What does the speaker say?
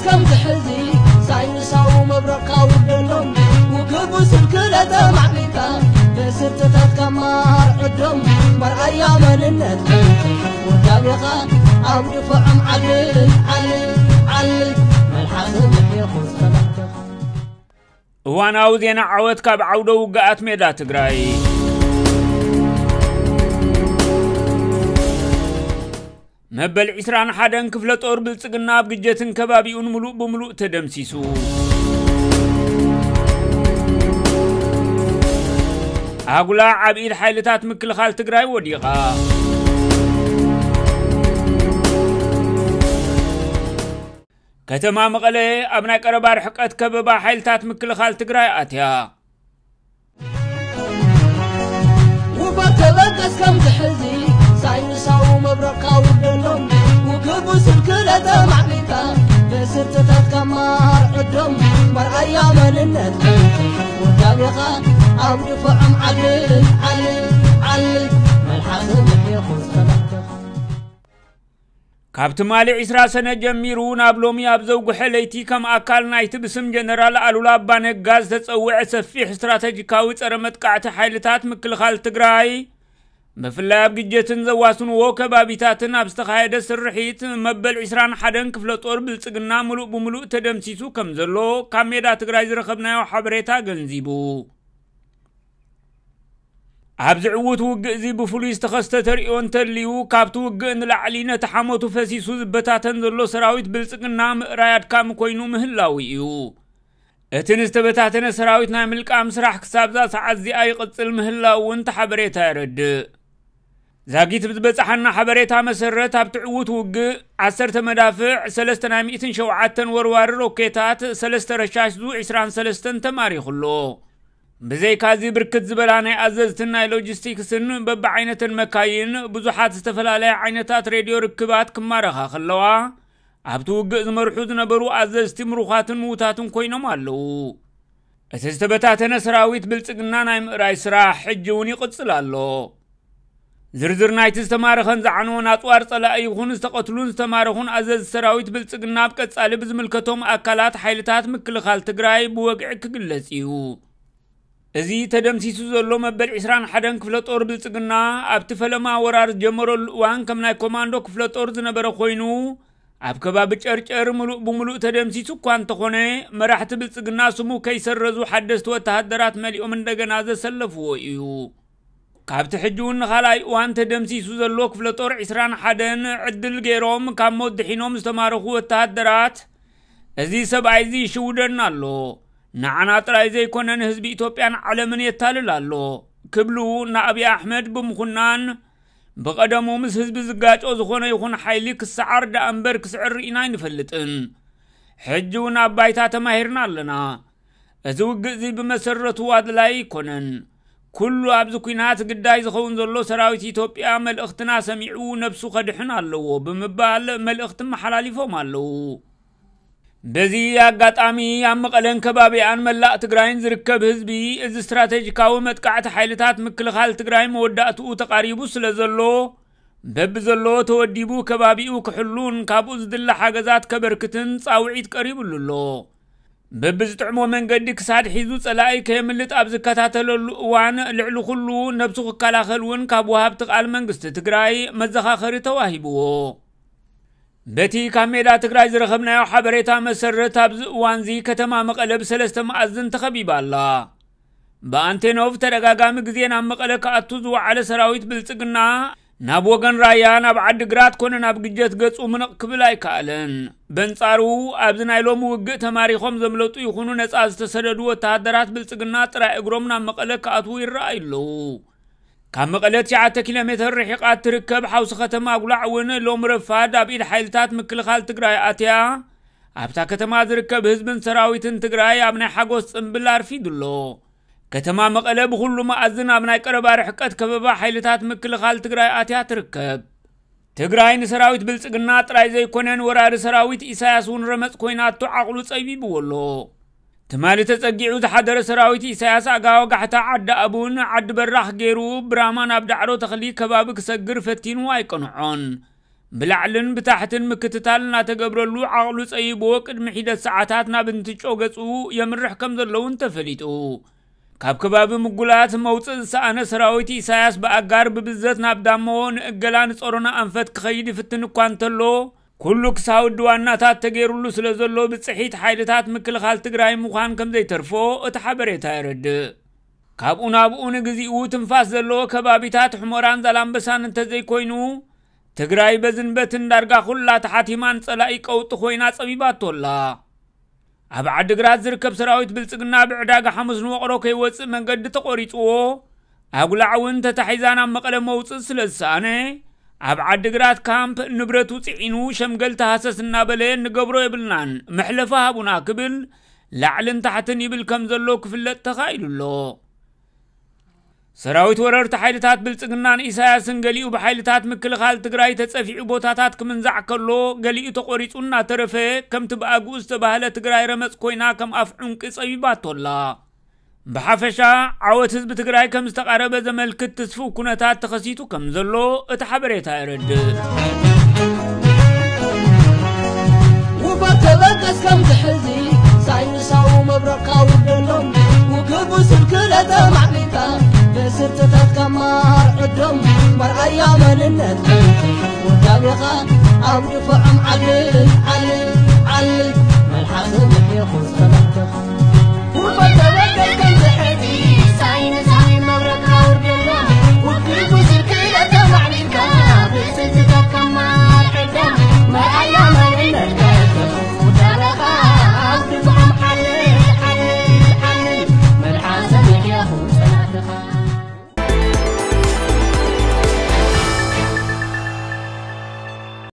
ከም ዝሕዚ ሳይንሳዊ መብረቕካ ውደሎም፣ ውግእ ብስልክለ ተማዕቢልካ፣ ብስርትታትካ ማር ዕዶም፣ መርኣያ መንነትካ ውዳቤኻ ኣብ ድፎዖም ዓሊ፣ ዓሊ፣ ዓሊ፣ መልሓስ ምሒኹ ዝኸለልተኻ። እዋናዊ ዜና ዓወት ካብ ዓውደ ውግኣት ሜዳ ትግራይ። መበል ዒስራን ሓደን ክፍለ ጦር ብልጽግና ኣብ ግጀትን ከባቢኡን ምሉእ ብምሉእ ተደምሲሱ። ኣጉላ ኣብ ኢድ ሓይልታት ምክልኻል ትግራይ ወዲቓ። ከተማ መቐለ ኣብ ናይ ቀረባ ርሕቀት ከበባ ሓይልታት ምክልኻል ትግራይ ኣትያ። ውፋር ተበገስ ከም ዝሕዚ ሳይንሳዊ መብረቕካ ውደሎም፣ ውግእ ብስልክለ ተማዕቢልካ፣ ብስርትታትካ ማር ዕዶም፣ መርኣያ መንነትካ ውዳቤኻ ኣብ ድፎዖም ዓሊ፣ ዓሊ፣ ዓሊ፣ መልሓስ ምሒኹ ዝኸለልተኻ። ካብ ትማሊ ዒስራ ሰነ ጀሚሩ ናብ ሎሚ ኣብ ዘውግሐ ለይቲ፣ ከም ኣካል ናይቲ ብስም ጀነራል ኣሉላ ኣባነጋ ዝተጸውዐ ሰፊሕ ስትራተጂካዊ ጸረ መጥቃዕቲ ሓይልታት ምክልኻል ትግራይ፣ ብፍላይ ኣብ ግጀትን ዘዋስንዎ ከባቢታትን ኣብ ዝተኻየደ ስርሒት፣ መበል ዒስራን ሓደን ክፍለ ጦር ብልጽግና ምሉእ ብምሉእ ተደምሲሱ ከም ዘሎ ካብ ሜዳ ትግራይ ዝረኸብናዮ ሓበሬታ ገንዚቡ። ኣብዚ ዕዉት ውግእ እዚ ብፍሉይ ዝተኸስተ ተርእዮ እንተልዩ፣ ካብቲ ውግእ ንላዕሊ ነቲ ሓሞቱ ፈሲሱ ዝበታተን ዘሎ ሰራዊት ብልጽግና ምእራይ ኣድካሚ ኮይኑ ምህላዉ እዩ። እቲ ንዝተበታተነ ሰራዊት ናይ ምልቃም ስራሕ ክሳብዛ ሰዓት እዚኣ ይቕጽል ምህላዉ እውን እቲ ሓበሬታ የረድእ። ዛጊት ብዝበጻሓና ሓበሬታ መሰረት፣ ኣብቲ ዕዉት ውግእ ዓሰርተ መዳፍዕ፣ ሰለስተ ናይ ሚእትን ሸውዓተን ወርዋሪ ሮኬታት፣ ሰለስተ ረሻሽ ዙ ዒስራን ሰለስተን ተማሪኹ ኣሎ። ብዘይካዚ፣ ብርክት ዝበላ ናይ ኣዘዝትን ናይ ሎጂስቲክስን በብዓይነተን መካይን፣ ብዙሓት ዝተፈላለያ ዓይነታት ሬድዮ ርክባት ክማረኻ ከለዋ፣ ኣብቲ ውግእ ዝመርሑ ዝነበሩ ኣዘዝቲ ምሩኻትን ምዉታትን ኮይኖም ኣለዉ። እቲ ዝተበታተነ ሰራዊት ብልጽግና ናይ ምእራይ ስራሕ ሕጂ እውን ይቕጽል ኣሎ። ዝርዝር ናይቲ ዝተማረኸን ዝዓነወን ኣጽዋር ጸላኢ ይኹን ዝተቐትሉን ዝተማረኹን ኣዘዝቲ ሰራዊት ብልጽግና ኣብ ቀጻሊ ብዝምልከቶም ኣካላት ሓይልታት ምክልኻል ትግራይ ብወግዒ ክግለጽ እዩ። እዚ ተደምሲሱ ዘሎ መበል ዒስራን ሓደን ክፍለ ጦር ብልጽግና፣ ኣብቲ ፈለማ ወራር ዝጀመረሉ እዋን ከም ናይ ኮማንዶ ክፍለ ጦር ዝነበረ ኮይኑ፣ ኣብ ከባቢ ጨርጨር ምሉእ ብምሉእ ተደምሲሱ እኳ እንተኾነ፣ መራሕቲ ብልጽግና ስሙ ከይሰረዙ ሓደስቲ ወተሃደራት መሊኦም እንደገና ዘሰለፍዎ እዩ። ካብቲ ሕጂ እውን ንኻልኣይ እዋን ተደምሲሱ ዘሎ ክፍለ ጦር ዒስራን ሓደን ዕድል ገይሮም ካብ ሞት ድሒኖም ዝተማረኹ ወተሃደራት፣ "እዚ ሰብኣይ እዚ ይሽውደና ኣሎ፣ ንዓና ጥራይ ዘይኮነ ንህዝቢ ኢትዮጵያን ዓለምን የታልል ኣሎ" ክብሉ ንኣብይ ኣሕመድ ብምኹናን፣ ብቐደሙ ምስ ህዝቢ ዝጋጮ ዝኾነ ይኹን ሓይሊ ክሰዓር ደኣ እምበር ክስዕር ርኢና ኣይንፈልጥን። ሕጂ እውን ኣብ ባይታ ተማሂርና ኣለና። እዚ ውግእ እዚ ብመሰረቱ ኣድላዪ ኣይኮነን። ኩሉ ኣብዚ ኲናት ግዳይ ዝኸውን ዘሎ ሰራዊት ኢትዮጵያ መልእኽትና ሰሚዑ ነብሱ ከድሕን ኣለዎ ብምባል መልእኽቲ መሓላሊፎም ኣለዉ። በዚ ኣጋጣሚ ኣብ መቐለን ከባቢኣን መላእ ትግራይን ዝርከብ ህዝቢ፣ እዚ ስትራቴጂካዊ መጥቃዕቲ ሓይልታት ምክልኻል ትግራይ መወዳእትኡ ተቓሪቡ ስለ ዘሎ፣ በብዘለዎ ተወዲቡ ከባቢኡ ክሕሉን ካብኡ ዝድለ ሓገዛት ከበርክትን ጻውዒት ቀሪቡሉ ኣሎ። በብዝጥዕሞ መንገዲ ክሳድ ሒዙ ጸላኢ ከየምልጥ ኣብ ዝከታተለሉ እዋን፣ ልዕሊ ኩሉ ነብሱ ክከላኸል እውን ካብ ወሃብቲ ቃል መንግስቲ ትግራይ መዘኻኸሪ ተዋሂብዎ። በቲ ካብ ሜዳ ትግራይ ዝረኸብናዮ ሓበሬታ መሰረት፣ ኣብዚ እዋንዚ ከተማ መቐለ ብሰለስተ መኣዝን ተኸቢባ ኣላ። ብኣንቴኖቭ ተደጋጋሚ ግዜ ናብ መቐለ ክኣቱ ዝወዓለ ሰራዊት ብልጽግና፣ ናብ ወገን ራያ፣ ናብ ዓዲ ግራት ኮነ ናብ ግጀት ገጹ ምንቕ ክብል ኣይከኣለን። በንጻሩ፣ ኣብዚ ናይ ሎሚ ውግእ ተማሪኾም ዘምለጡ ይኹኑ ነጻ ዝተሰደዱ ወተሃደራት ብልጽግና ጥራይ እግሮም ናብ መቐለ ክኣትዉ ይረኣዩ ኣለዉ። ካብ መቐለ ትሽዓተ ኪሎ ሜትር ርሒቓ እትርከብ ሓውሲ ከተማ ኣጉላዕ እውን ሎሚ ረፋድ ኣብ ኢድ ሓይልታት ምክልኻል ትግራይ ኣትያ፣ ኣብታ ከተማ ዝርከብ ህዝብን ሰራዊትን ትግራይ ኣብ ናይ ሓጎስ ጽምብል ኣርፊዱ ኣሎ። ከተማ መቐለ ብኹሉ መኣዝን ኣብ ናይ ቀረባ ርሕቀት ከበባ ሓይልታት ምክልኻል ትግራይ ኣትያ ትርከብ። ትግራይ ንሰራዊት ብልጽግና ጥራይ ዘይኮነ፣ ንወራሪ ሰራዊት ኢሳያስ እውን ረመጽ ኮይናቶ ዓቕሉ ጸቢብዎ ኣሎ። ትማሊ ተጸጊዑ ዝሓደረ ሰራዊት ኢሳያስ፣ ኣጋ ወጋሕታ፣ ዓዲ ኣቡን ዓዲ በራሕ ገይሩ ብራማ ናብ ዳዕሮ ተኽሊ ከባቢ ክሰግር ፈቲኑ ኣይቀንዖን። ብላዕልን ብታሕትን ምክትታል እናተገብረሉ ዓቕሉ ጸይብዎ ቅድሚ ሒደት ሰዓታት ናብ እንትጮ ገጹ የምርሕ ከም ዘለውን ተፈሊጡ። ካብ ከባቢ ምጉላት መውፅእ ዝሰኣነ ሰራዊት ኢሳያስ ብኣጋር ብብዘት ናብ ዳሞ ንእገላ ንጸሮና ኣንፈት ክኸይድ ይፍትን እኳ እንተሎ፣ ኩሉ ክሳውዲ ዋናታት ተገይሩሉ ስለ ዘሎ ብፅሒት ሓይልታት ምክልኻል ትግራይ ምዃን ከም ዘይተርፎ እቲ ሓበሬታ የረድእ። ካብኡ ናብኡ ንግዚኡ ትንፋስ ዘለዎ ከባቢታት ሕሞራን ዛላምበሳን እንተዘይኮይኑ፣ ትግራይ በዝን በትን ዳርጋ ኩላ ተሓቲማን ጸላኢ ቀውጢ ኮይና ጸቢባቶ ኣላ። ኣብ ዓድግራት ዝርከብ ሰራዊት ብልጽግና ብዕዳጋ ሓሙስ ንወቕሮ ከይወጽእ መንገዲ ተቖሪጽዎ፣ ኣጉላዕ እውን ተታሒዛ ናብ መቐለ መውጽእ ስለ ዝሰኣነ፣ ኣብ ዓድግራት ካምፕ ንብረቱ ጽዒኑ ሸምገል ተሃሰስ እናበለ ንገብሮ የብልናን፣ መሕለፊ ሃቡና ክብል ላዕልን ታሕትን ይብል ከም ዘሎ ክፍለጥ ተኻኢሉ ኣሎ። ሰራዊት ወረርቲ ሓይልታት ብልጽግናን ኢሳያስን ገሊኡ ብሓይልታት ምክልኻል ትግራይ ተጸፊዑ ቦታታት ክምንዛዕ ከሎ፣ ገሊኡ ተቖሪጹ እናተረፈ፣ ከምቲ ብኣግኡ ዝተባህለ ትግራይ ረመጽ ኮይና ከም ኣፍ ዑንቂ ጸቢባቶ ኣላ። ብሓፈሻ፣ ዓወት ህዝቢ ትግራይ ከም ዝተቓረበ ዘመልክት ትስፉው ኩነታት ተኸሲቱ ከም ዘሎ እቲ ሓበሬታ የረድእ። ውፈር ተበገስ ከምዚ ሕዚ ሳይንሳዊ መብረቕካ ውደሎም ውግቡ ስልክለ ተማዕቢልካ ብስርትታትካ ማር ዕዶም መርኣያ መንነት ውዳቤኻ ኣብ ድፍዖም ዓልን ዓልን